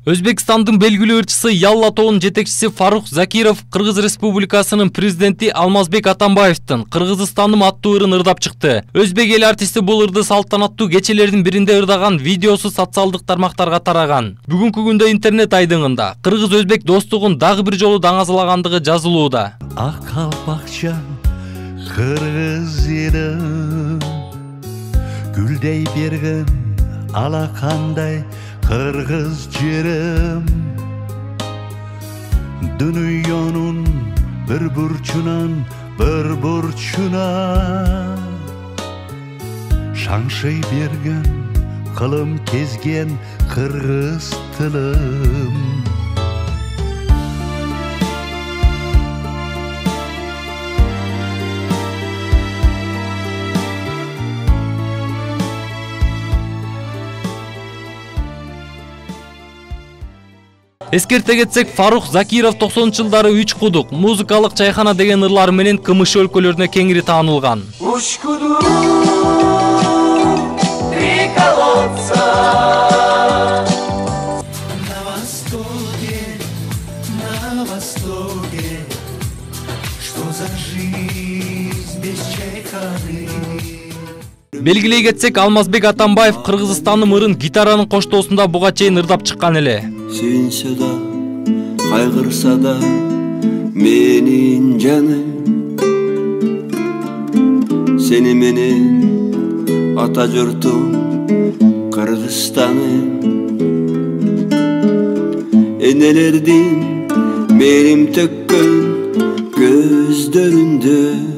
Өзбекстандын белгилүү ырчысы Ялла тобунун жетекчиси Фарух Закиров Кыргыз Республикасынын президенти Алмазбек Атамбаевдин Кыргызстандын аттуу ырын ырдап чыкты. Өзбек эл артисти бул ырды салтанаттуу кечелердин биринде ырдаган видеосу социалдык тармактарга тараган. Бүгүнкү күндө интернет айдыңында кыргыз-өзбек достугун дагы бир жолу даңазалагандыгы жазылууда. Ак калпакчан кыргыз элим гүлдей берген алакандай кыргыз жерим дүйнөнүн bir burчуна шаңшый берген кылым кезген кыргыз тылым. Эскерте кетсек, Фарух Закиров 90-жылдары Үч кудук, музыкалык чайхана деген ырлары менен КМШ өлкөлөрүнө кеңири таанылган. Үч кудук, три колодца. На востоке, что за жизнь без чайханы. Белгилей кетсек, Алмазбек Атамбаев Кыргызстандын ырын гитаранын коштоосунда буга чейин ырдап чыккан эле. Сүйүнсө да, кайгырса да, менин жаным, сени менен ата журтум Кыргызстаным. Энелердин мерим төккөн көздөрүндө